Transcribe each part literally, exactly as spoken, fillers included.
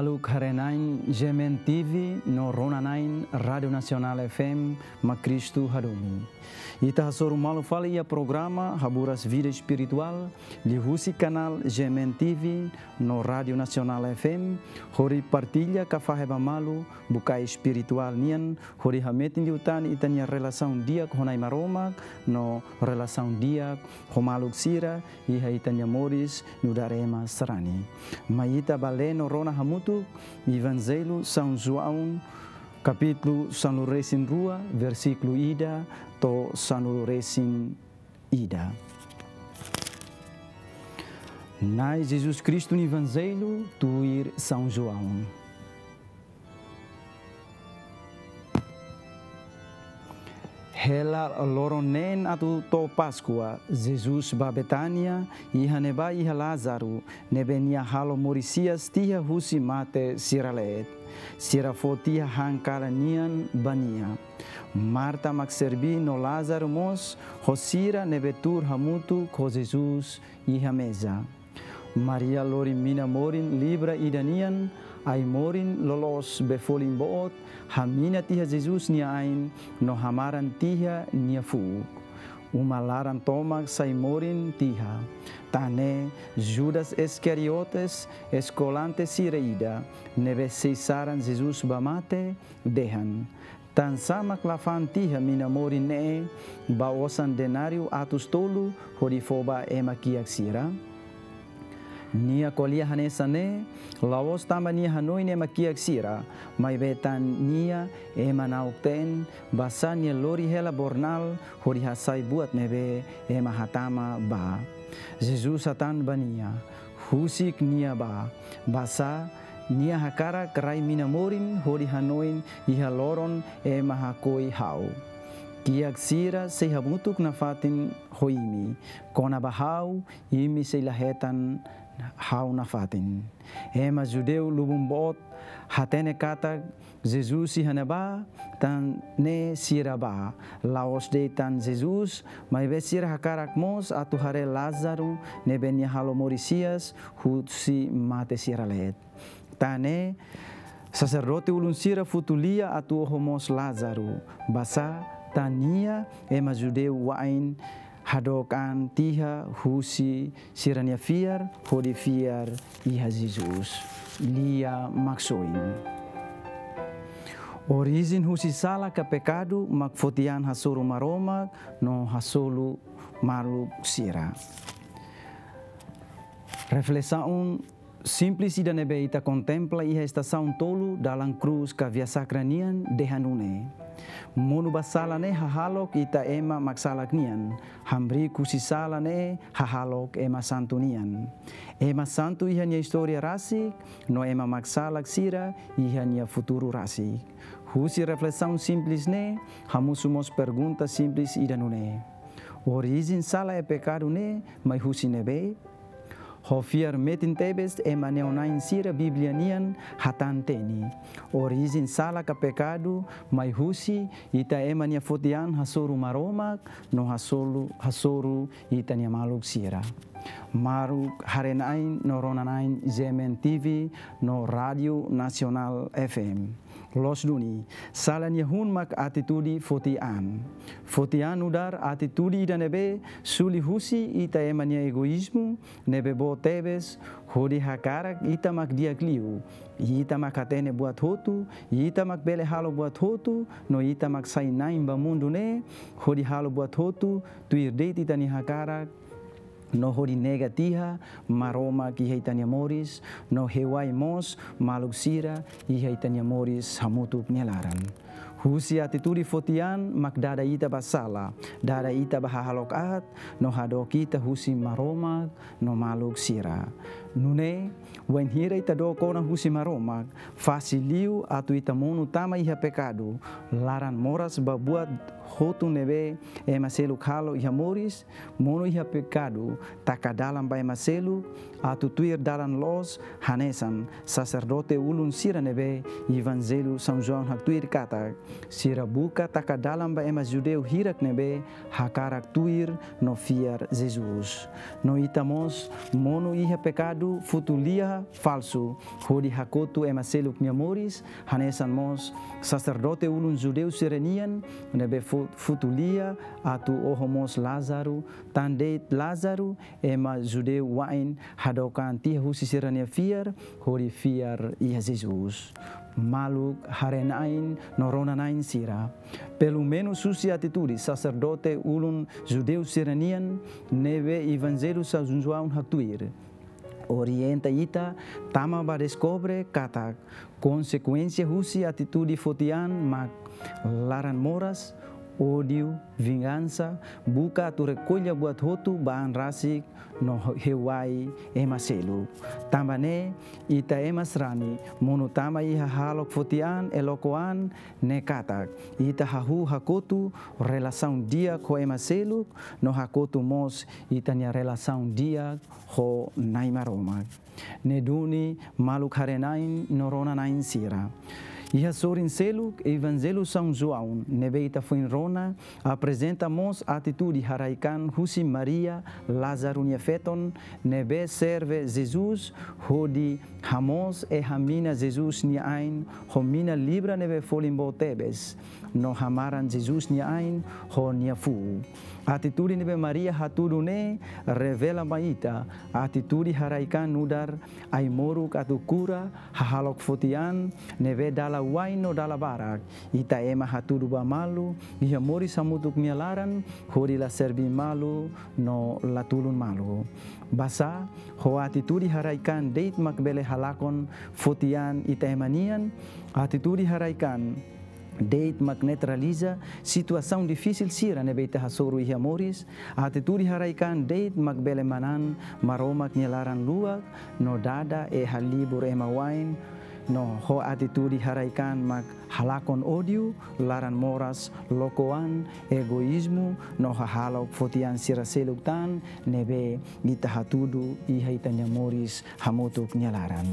Maluk haree-na'in G M N T V no rona-na'in Rádiu Nasionál F M, mak Kristu hadomi. Ita hasoru malu fali iha programa Haburas Vida Espirituál, liuhusi kanál G M N T V no Rádiu Nasionál F M, hodi partilla ka fahe ba malu bukae espirituál nian, hodi hametin liután ita-nia relasaun di'ak ho Na'i Maromak, no relasaun di'ak ho maluk sira iha ita-nia moris nu'udar ema sarani. Mai ita bá lee no rona hamutuk Evanjellu São João, kapítulu sanulu-resin-rua, versíkulu ida to'o sanulu-resin-ida. Na'i Jesus Kristu nia Evanjellu tuir São João. Hela loron neen atu to'o Páskua, Jesus bá Betánia, iha ne'ebá iha Lázaro, ne'ebé nia halo moris hi'as tiha husi mate sira leet. Sira fó tiha han kalan nian ba nia. Marta mak serbí no Lázaro mós ho sira ne'ebé tuur hamutuk ho Jesus iha meza. Maria lori mina morin libra ida nian, ai-morin loloos be folin boot, hamina tiha Jesus nia ain no hamaran tiha nia fuuk. Uma laran tomak sai morin tiha. Tan ne'e Judas Iskariotes, eskolante sira ida, ne'ebé sei saran Jesus ba mate, dehan: Tansá mak la fa'an tiha mina morin ne'e ba osan denáriu atus tolu hodi fó ba ema kiak sira? Nia ko'alia hanesan ne'e, la'ós tanba nia hanoin ema kiak sira, maibé tan nia ema na'ok-teen, basá nia lori hela bornal hodi hasai buat ne'ebé ema hatama bá. Jesus hatán ba nia: Husik nia bá, basá nia hakarak rai mina morin hodi hanoin iha loron ema hakoi ha'u. Kiak sira sei hamutuk nafatin ho imi, kona-ba ha'u, imi sei la hetan ha'u nafatin. Ema judeu lubun boot hatene katak Jesus iha ne'ebá, tan ne'e sira bá, la'ós de'it tan Jesus, maibé sira hakarak mós atu haree Lázaro ne'ebé nia halo moris hi'as husi mate sira leet. Tan ne'e, saserdote ulun sira futu lia atu oho mós Lázaro, basá tan nia ema judeu wa'in hadook an tiha husi sira-nia fiar hodi fiar iha Jesus. Lia Maksoin. Orijen husi sala ka pekadu mak foti an hasoru Maromak no hasoru maluk sira. Reflesaun simples ida ne'ebé ita kontempla iha estasaun tolu dalan krús ka Via Sakra nian dehan nune'e: Monu ba sala ne'e hahalok ita ema maksalak nian, hamriik husi sala ne'e hahalok ema santu nian. Ema santu iha nia istória rasik, no ema maksalak sira iha nia futuru rasik. Husi reflesaun simples ne'e, hamosu mós pergunta simples ida nune'e: Orijen sala e pekadu ne'e mai husi ne'ebé? Ho fiar metin tebes ema neona'in sira Bíblia nian hatán-teni. Orijen sala ka pekadu mai husi ita ema nia foti an hasoru Maromak no hasoru, hasoru ita-nia maluk sira. Maluk haree-na'in no rona-na'in G M N T V no Rádiu Nasionál F M. Loos duni, sala nia hun mak atitude foti an. Foti an nu'udar atitude ida ne'ebé suli husi ita ema nia egoízmu ne'ebé boot tebes, hodi hakarak ita mak di'ak liu, ita mak hatene buat hotu, ita mak bele halo buat hotu, no ita mak sai na'in ba mundu ne'e, hodi halo buat hotu tuir de'it ita-nia hakarak, no hodi nega tiha Maromak iha ita-nia moris, no hewai mós maluk sira iha ita-nia moris hamutuk nia laran. Husi atitude foti an mak dada ita ba sala, dada ita ba hahalok aat, no hadook ita husi Maromak no maluk sira. Nune'e, wainhira ita dook ona husi Maromak, fasil liu atu ita monu tama iha pekadu, laran moras ba buat hotu ne'ebé ema seluk halo iha moris, monu iha pekadu, taka dalan ba ema seluk, atu tuir dalan loos, hanesan saserdote ulun sira ne'ebé Evanjellu São João haktuir katak, sira buka taka dalan ba ema judeu hirak ne'ebé hakarak tuir no fiar Jesus. No ita mós monu iha pekadu futulia falsu, hodi hakotu ema seluk nia moris, hanesan mós saserdote ulun judeu sira-nian, ne'ebé fu-, futulia atu oho mós Lázaro, tan de'it Lázaro, ema judeu wa'in hadook an tiha husi sira-nia fiar, hodi fiar iha Jesus. Maluk haree-na'in no rona-na'in sira. Pelumenus husi atitude saserdote ulun judeu sira-nian, ne'ebé Evanjellu São João haktuir, orienta ita tama ba deskobre katak konsekuénsia husi atitude foti-an mak laran-moras, ódiu, vingansa, buka atu rekolla buat hotu ba an rasik no heuai ema seluk. Tanba ne'e, ita ema sarani monu tama iha hahalok foti-an, eloko-an, ne'e katak ita hahú hakotu relasaun di'ak ho ema seluk, no hakotu mós ita-nia relasaun di'ak ho Na'i Maromak. Ne'e duni maluk haree-na'in no rona-na'in sira. Iha sorin seluk, Evanjellu São João ne'ebé ita foin rona, aprezenta mós atitude haraik-an husi Maria, Lázaro nia feton, ne'ebé serve Jesus hodi hamoos e hamina Jesus nia ain ho mina libra ne'ebé folin boot tebes, no hamaran Jesus nia ain ho nia fuuk. Atitude ne'ebé Maria hatudu ne'e revela mai ita atitude haraik-an nu'udar ai-moruk atu kura hahalok foti-an ne'ebé dala wa'in no dala barak ita ema hatudu ba malu, iha moris hamutuk nia laran, hodi la serbi malu no la tulun malu. Basá, ho atitude haraik-an de'it mak bele halakon foti-an ita ema nian, atitude haraik-an de'it mak neutraliza situasaun difisil sira ne'ebé ita hasoru iha moris, atitude haraik-an de'it mak bele manán Maromak nia laran luak, no dada e halibur ema wa'in, no ho atitude haraik-an mak halakon ódiu, laran-moras, loko-an, egoízmu, no hahalok foti-an sira seluk tan ne'ebé ita hatudu iha ita-nia moris hamutuk nia laran.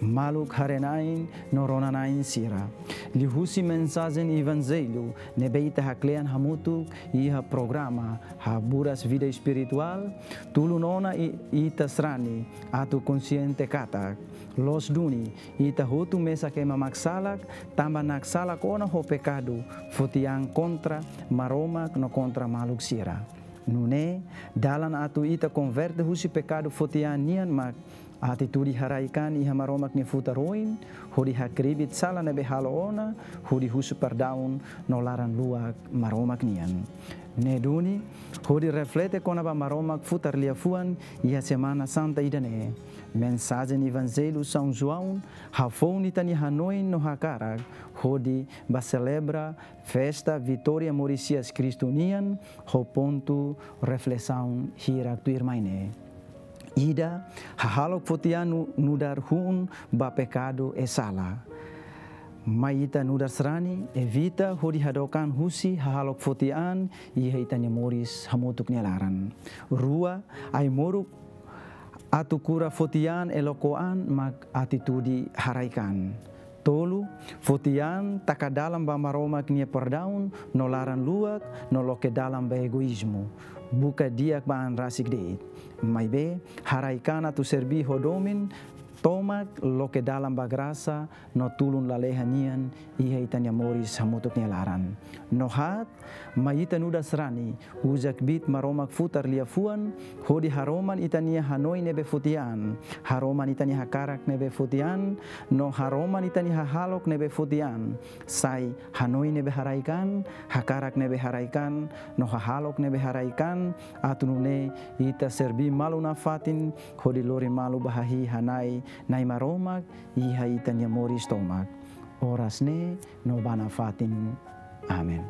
Maluk haree-na'in no rona-na'in sira. Liuhusi mensajen Evanjellu ne'ebé ita haklean hamutuk iha programa Haburas Vida Espirituál, tulun ona i-, ita sarani atu konxiente katak, loos duni, ita hotu mesak ema mak salak, tanba naksalak ona ho pekadu foti-an kontra Maromak no kontra maluk sira. Nune'e, dalan atu ita konverte husi pekadu foti-an nian mak atitude haraik-an iha Maromak nia futar oin, hodi hakribi sala ne'ebé halo ona, hodi husu perdaun no laran luak Maromak nian. Ne'e duni, hodi reflete kona-ba Maromak futar liafuan iha Semana Santa ida-ne'e. Mensajen Evanjellu São João hafoun ita-nia hanoin no hakarak hodi bá selebra festa Vitória Morisias Kristu nian, ho pontu reflesaun hirak tuirmai ne'e. Ida, hahalok foti-an nu-, nu'udar hun ba pekadu e sala. Mai ita nu'udar sarani evita hodi hadook an husi hahalok foti-an iha ita-nia moris hamutuk nia laran. Rua, ai-moruk atu kura foti-an, eloko-an mak atitude haraik-an. Tolu, foti-an taka dalan ba Maromak nia perdaun no laran luak, no loke dalan ba egoízmu, buka di'ak ba an rasik de'it. Maibé, haraik-an atu serbi ho domin tomak, loke dalan ba grasa no tulun lalehan nian iha ita-nia moris hamutuk nia laran. No haat, mai ita nu'udar sarani uza kbiit Maromak futar liafuan, hodi haroman ita-nia hanoin ne'ebé foti-an, haroman ita-nia hakarak ne'ebé foti-an, no haroman ita-nia hahalok ne'ebé foti-an, sai hanoin ne'ebé haraik-an, hakarak ne'ebé haraik-an, no hahalok ne'ebé haraik-an, atu nune'e ita serbi malu nafatin, hodi lori malu ba hahi'i-hana'i Na'i Maromak iha ita-nia moris tomak, oras ne'e no ba nafatin. Amen.